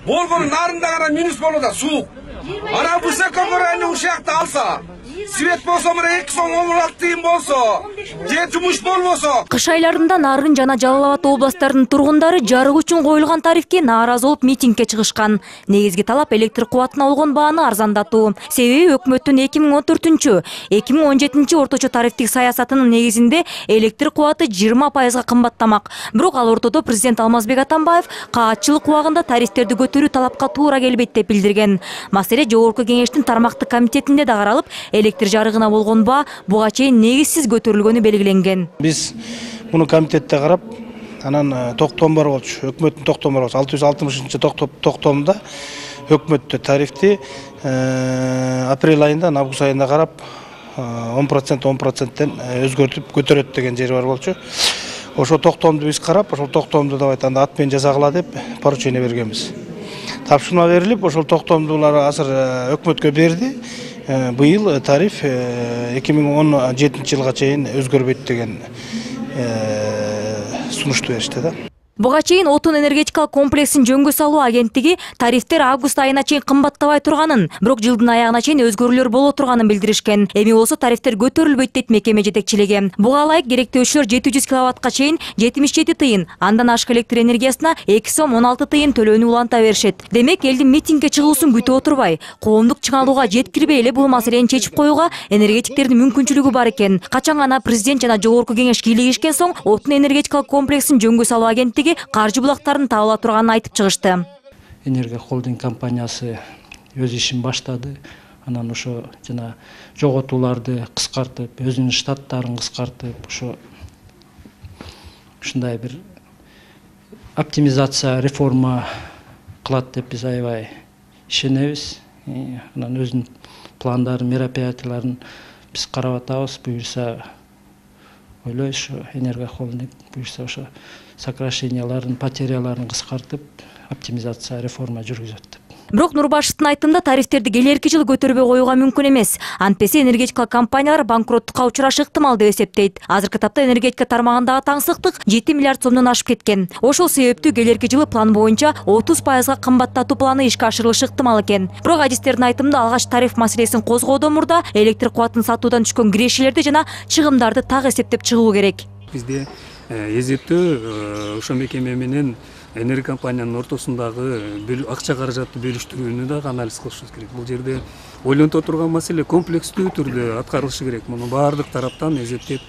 болгон нарында гана минус болот да суук. Ана высокогорный ушакты алса, свет болсо мына 2 сом 16 тыйын болсо, же жумуш болбосо. Кыш айларында Нарын жана Жалал Абад областарынын тургундары жарык үчүн коюлган тарифке нааразы болуп митингге чыгышкан. Негизги талап электр кубатына болгон бааны арзандатуу. Себеби өкмөттүн 2014-2017 орточо тарифтик саясатынын негизинде электр кубаты 20%га кымбаттамак. Бирок ал ортодо президент Алмазбек Атамбаев каатчылык убагында тарифтерди көтөрүү талапка туура келбейт деп билдирген. Маселе Жогорку Кеңештин тармактык комитетинде да каралып, электр жарыгына болгон баа буга чейин негизсиз көтөрүлгөнү белгиленген. Биз муну комитетте карап, анан токтом бар болчу. Өкмөттүн токтому бар болчу. 660-токтомдо өкмөттө тарифти апрель айында, август айында карап 10%тен өзгөртүп көтөрөт деген жери бар болчу. Ошо токтомду биз карап, ошол токтомду давай анда ат менен жазагыла деп поручение бергенбиз. Тапшырма берилип, ошол токтомдулар азыр өкмөткө берди. Быйыл тариф 2017 жылга чейин өзгөрбөйт деген сунушту беришти да. Буга чейин отун энергетикалык комплексин жөнгө салуу агенттиги тарифтер август айына чейин кымбаттабай турганын, бирок жылдын аягына чейин өзгөрүүлөр боло турганын билдиришкен. Эми болсо тарифтер көтөрүлбөйт дейт мекеме жетекчилиги. Буга ылайык керектөөчүлөр 700 киловаттка чейин 77 тыйын, андан ашык электр энергиясына 2 сом 16 тыйын төлөөнү уланта беришет. Демек, элдин митингге чыгуусун күтүп отурбай, коомдук чыңалууга жеткирбей эле бул маселени чечип коюуга энергетиктердин мүмкүнчүлүгү бар экен. Качан гана президент жана Жогорку Кеңеш кийлигишкен соң, отун энергетикалык комплексин жөнгө салуу агенттиги каржы булактарын табыла турганын айтып чыгышты. Энергия холдинг компаниясы өз ишин баштады. Анан ошо жана жоготууларды кыскартып, өзүнүн штаттарын кыскартып, ушундай бир оптимизация, реформа кылат деп биз аябай ишенебиз. Анан өзүнүн пландарын, мероприятияларын биз карап атабыз. Буюрса ойлойбуз, энергия холдинг буюрса ошо сокращенияларын, потеряларын кыскартып, оптимизация, реформа жүргүзөт деп. Бирок Нурбашевдин айтымында тарифтерди келерки жылы көтөрбөй коюуга мүмкүн эмес. Антпесе энергетикалык компаниялар банкроттукка учурашы ыктымал деп эсептейт. Азыркы тапта энергетика тармагындагы таңсыктык 7 миллиард сомдон ашып кеткен. Ошол себептүү келерки жылы план боюнча 30%га кымбаттатуу планы ишке ашырылышы ыктымал экен. Бирок адистердин айтымында алгач тариф маселесин козгоодон мурда электр кубатын сатуудан түшкөн кирешелерди жана чыгымдарды так эсептеп чыгуу керек. Бизде эзептөө ошо мекеме менен энергия компаниянын ортосундагы акча каражатты бөлүштүрүүнү да анализ кылышыбыз керек. Бул жерде ойлонто турган маселе комплекстүү түрдө аткарылышы керек. Муну баардык тараптан эзептеп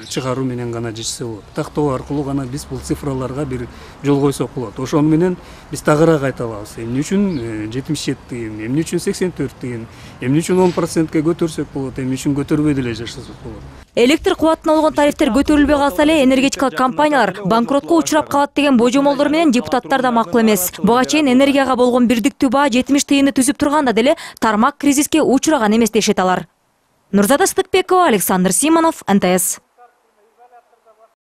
чыгаруу менен гана жетсе болот. Тактоо аркылуу гана биз бул цифраларга бир жол койсок болот. Ошону менен биз тагыраак айта алабыз. Эмне үчүн 77 тыйын, эмне үчүн 84 тыйын, эмне үчүн 10%ке көтөрсөк болот, эмне үчүн көтөрбөй деле жашасак болот. Электр кубатына болгон тарифтер көтөрүлбөй калса эле энергетикалык компаниялар банкротко учурап калат деген божомолдор менен депутаттар да макул эмес. Буга чейин энергияга болгон бирдиктүү баа 70 тыйынды түзүп турганда деле тармак кризиске учураган эмес дешет алар. Нурзада Сыдыкбекова, Александр Симонов, НТС.